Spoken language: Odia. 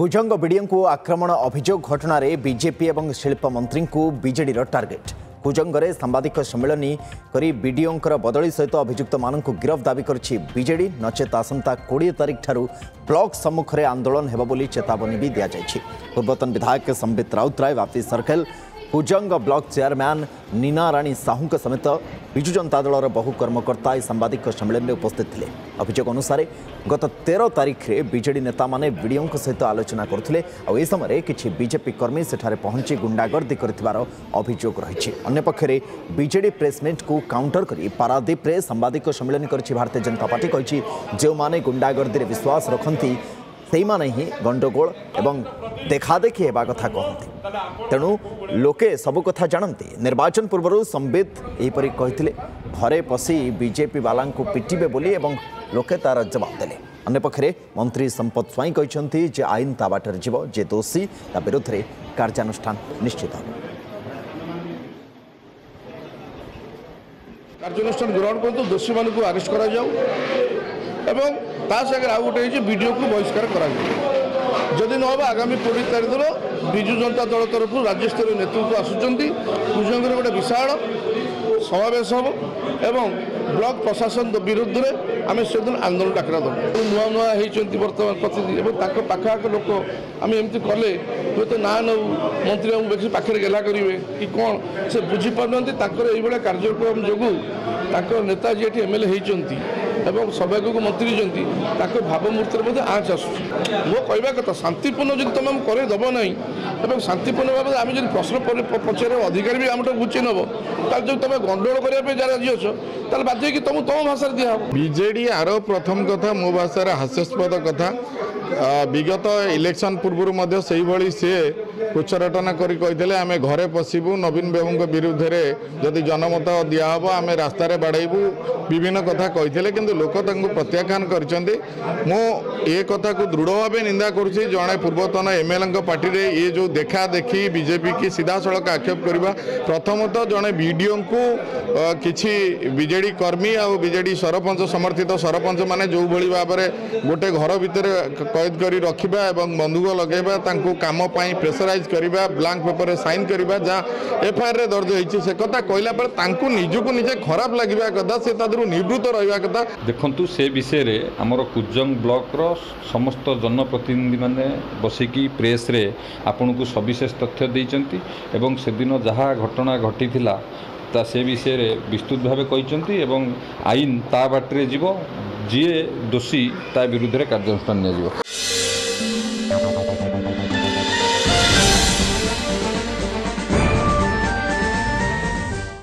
କୁଜଙ୍ଗ ବିଡିଓଙ୍କୁ ଆକ୍ରମଣ ଅଭିଯୋଗ ଘଟଣାରେ ବିଜେପି ଏବଂ ଶିଳ୍ପମନ୍ତ୍ରୀଙ୍କୁ ବିଜେଡିର ଟାର୍ଗେଟ୍। କୁଜଙ୍ଗରେ ସାମ୍ବାଦିକ ସମ୍ମିଳନୀ କରି ବିଡିଓଙ୍କର ବଦଳି ସହିତ ଅଭିଯୁକ୍ତମାନଙ୍କୁ ଗିରଫ ଦାବି କରିଛି ବିଜେଡି। ନଚେତ ଆସନ୍ତା 20 ତାରିଖ ଠାରୁ ବ୍ଲକ ସମ୍ମୁଖରେ ଆନ୍ଦୋଳନ ହେବ ବୋଲି ଚେତାବନୀ ବି ଦିଆଯାଇଛି। ପୂର୍ବତନ ବିଧାୟକ Sambit Routray, Bapi circle, Kujang block chairman Nina Rani ସାହୁଙ୍କ ସମେତ ବିଜୁ ଜନତା ଦଳର ବହୁ କର୍ମକର୍ତ୍ତା ଏହି ସାମ୍ବାଦିକ ସମ୍ମିଳନୀରେ ଉପସ୍ଥିତ ଥିଲେ। ଅଭିଯୋଗ ଅନୁସାରେ ଗତ 13 ତାରିଖରେ ବିଜେଡି ନେତାମାନେ ବିଡିଓଙ୍କ ସହିତ ଆଲୋଚନା କରୁଥିଲେ, ଆଉ ଏ ସମୟରେ କିଛି ବିଜେପି କର୍ମୀ ସେଠାରେ ପହଞ୍ଚି ଗୁଣ୍ଡାଗର୍ଦ୍ଦି କରିଥିବାର ଅଭିଯୋଗ ରହିଛି। ଅନ୍ୟପକ୍ଷରେ ବିଜେଡି ପ୍ରେସମିଟ୍କୁ କାଉଣ୍ଟର କରି ପାରାଦୀପରେ ସାମ୍ବାଦିକ ସମ୍ମିଳନୀ କରିଛି ଭାରତୀୟ ଜନତା ପାର୍ଟି। କହିଛି, ଯେଉଁମାନେ ଗୁଣ୍ଡାଗର୍ଦ୍ଦିରେ ବିଶ୍ୱାସ ରଖନ୍ତି ସେଇମାନେ ହିଁ ଗଣ୍ଡଗୋଳ ଏବଂ ଦେଖାଦେଖି ହେବା କଥା କହନ୍ତି, ତେଣୁ ଲୋକେ ସବୁ କଥା ଜାଣନ୍ତି। ନିର୍ବାଚନ ପୂର୍ବରୁ ସମ୍ବିତ ଏହିପରି କହିଥିଲେ, ଘରେ ପଶି ବିଜେପି ବାଲାଙ୍କୁ ପିଟିବେ ବୋଲି, ଏବଂ ଲୋକେ ତାର ଜବାବ ଦେଲେ। ଅନ୍ୟପକ୍ଷରେ ମନ୍ତ୍ରୀ ସମ୍ପଦ ସ୍ୱାଇଁ କହିଛନ୍ତି ଯେ ଆଇନ ତା ବାଟରେ ଯିବ, ଯେ ଦୋଷୀ ତା ବିରୁଦ୍ଧରେ କାର୍ଯ୍ୟାନୁଷ୍ଠାନ ନିଶ୍ଚିତ ହେବ। କାର୍ଯ୍ୟାନୁଷ୍ଠାନ ଗ୍ରହଣ କରନ୍ତୁ, ଦୋଷୀମାନଙ୍କୁ ଆରେଷ୍ଟ କରାଯାଉ ଏବଂ ତା ସାଙ୍ଗରେ ଆଉ ଗୋଟେ ହେଇଛି, ବିଡ଼ିଓକୁ ବହିଷ୍କାର କରାଯାଉ। ଯଦି ନ ହେବ, ଆଗାମୀ 20 ତାରିଖ ଦିନ ବିଜୁ ଜନତା ଦଳ ତରଫରୁ ରାଜ୍ୟସ୍ତରୀୟ ନେତୃତ୍ୱ ଆସୁଛନ୍ତି, କୁଜଙ୍ଗରେ ଗୋଟେ ବିଶାଳ ସମାବେଶ ହେବ ଏବଂ ବ୍ଲକ ପ୍ରଶାସନ ବିରୁଦ୍ଧରେ ଆମେ ସେଦିନ ଆନ୍ଦୋଳନ ଡାକରା ଦେବୁ। ନୂଆ ନୂଆ ହେଇଛନ୍ତି ବର୍ତ୍ତମାନ ପ୍ରତିନିଧି ଏବଂ ତାଙ୍କ ପାଖଆଖ ଲୋକ, ଆମେ ଏମିତି କଲେ ହୁଏତ ନା ନେଉ ମନ୍ତ୍ରୀ ବାବୁ ବେଶୀ ପାଖରେ ଗେଲା କରିବେ କି କ'ଣ, ସେ ବୁଝିପାରୁନାହାନ୍ତି। ତାଙ୍କର ଏଇଭଳିଆ କାର୍ଯ୍ୟକ୍ରମ ଯୋଗୁଁ ତାଙ୍କ ନେତା ଯିଏ ଏଠି ଏମ୍ ଏଲ୍ ଏ ହେଇଛନ୍ତି ଏବଂ ସୌଭାଗ୍ୟକୁ ମନ୍ତ୍ରୀ ହେଇଛନ୍ତି, ତାଙ୍କ ଭାବମୂର୍ତ୍ତିରେ ମଧ୍ୟ ଆଞ୍ଚ ଆସୁଛି। ମୋ କହିବା କଥା, ଶାନ୍ତିପୂର୍ଣ୍ଣ ଯଦି ତୁମେ ଆମକୁ କରେଇ ଦେବ ନାହିଁ ଏବଂ ଶାନ୍ତିପୂର୍ଣ୍ଣ ଭାବରେ ଆମେ ଯଦି ପ୍ରଶ୍ନ ପଚାରିବା ଅଧିକାର ବି ଆମଠୁ ଘୁଚେଇ ନେବ, ତାହେଲେ ଯଦି ତୁମେ ଗଣ୍ଡଗୋଳ କରିବା ପାଇଁ ଯାହା ରାଜି ଅଛ, ତାହେଲେ ବାଧ୍ୟ ହେଇକି ତୁମକୁ ତୁମ ଭାଷାରେ ଦିଆହେବ। ବିଜେଡି ଆର ପ୍ରଥମ କଥା ମୋ ଭାଷାରେ ହାସ୍ୟାସ୍ପଦ କଥା। ବିଗତ ଇଲେକ୍ସନ୍ ପୂର୍ବରୁ ମଧ୍ୟ ସେଇଭଳି ସିଏ ଉଚ୍ଚରଟନା କରି କହିଥିଲେ, ଆମେ ଘରେ ପଶିବୁ, ନବୀନ ବାବୁଙ୍କ ବିରୁଦ୍ଧରେ ଯଦି ଜନମତ ଦିଆହେବ ଆମେ ରାସ୍ତାରେ ବାଡ଼େଇବୁ, ବିଭିନ୍ନ କଥା କହିଥିଲେ, କିନ୍ତୁ ଲୋକ ତାଙ୍କୁ ପ୍ରତ୍ୟାଖ୍ୟାନ କରିଛନ୍ତି। ମୁଁ ଏ କଥାକୁ ଦୃଢ଼ ଭାବେ ନିନ୍ଦା କରୁଛି। ଜଣେ ପୂର୍ବତନ ଏମ୍ଏଲ୍ଏଙ୍କ ପାର୍ଟିରେ ଏ ଯେଉଁ ଦେଖା ଦେଖି ବିଜେପିକି ସିଧାସଳଖ ଆକ୍ଷେପ କରିବା, ପ୍ରଥମତଃ ଜଣେ ବିଡ଼ିଓଙ୍କୁ କିଛି ବିଜେଡ଼ି କର୍ମୀ ଆଉ ବିଜେଡ଼ି ସରପଞ୍ଚ ସମର୍ଥିତ ସରପଞ୍ଚମାନେ ଯେଉଁଭଳି ଭାବରେ ଗୋଟେ ଘର ଭିତରେ କଏଦ କରି ରଖିବା ଏବଂ ବନ୍ଧୁକ ଲଗାଇବା, ତାଙ୍କୁ କାମ ପାଇଁ ପ୍ରେସରାଇଜ୍ କରିବା, ବ୍ଲାଙ୍କ ପେପରରେ ସାଇନ୍ କରିବା, ଯାହା ଏଫଆଇଆର୍ରେ ଦର୍ଜ ହେଇଛି, ସେ କଥା କହିଲା ପରେ ତାଙ୍କୁ ନିଜକୁ ନିଜେ ଖରାପ ଲାଗିବା କଥା, ସେ ତା ଦେହରୁ ନିବୃତ୍ତ ରହିବା କଥା। ଦେଖନ୍ତୁ, ସେ ବିଷୟରେ ଆମର କୁଜଙ୍ଗ ବ୍ଲକର ସମସ୍ତ ଜନପ୍ରତିନିଧିମାନେ ବସିକି ପ୍ରେସ୍ରେ ଆପଣଙ୍କୁ ସବିଶେଷ ତଥ୍ୟ ଦେଇଛନ୍ତି ଏବଂ ସେଦିନ ଯାହା ଘଟଣା ଘଟିଥିଲା ତା ସେ ବିଷୟରେ ବିସ୍ତୃତ ଭାବେ କହିଛନ୍ତି ଏବଂ ଆଇନ ତା ବାଟରେ ଯିବ, ଯିଏ ଦୋଷୀ ତା ବିରୁଦ୍ଧରେ କାର୍ଯ୍ୟାନୁଷ୍ଠାନ ନିଆଯିବ।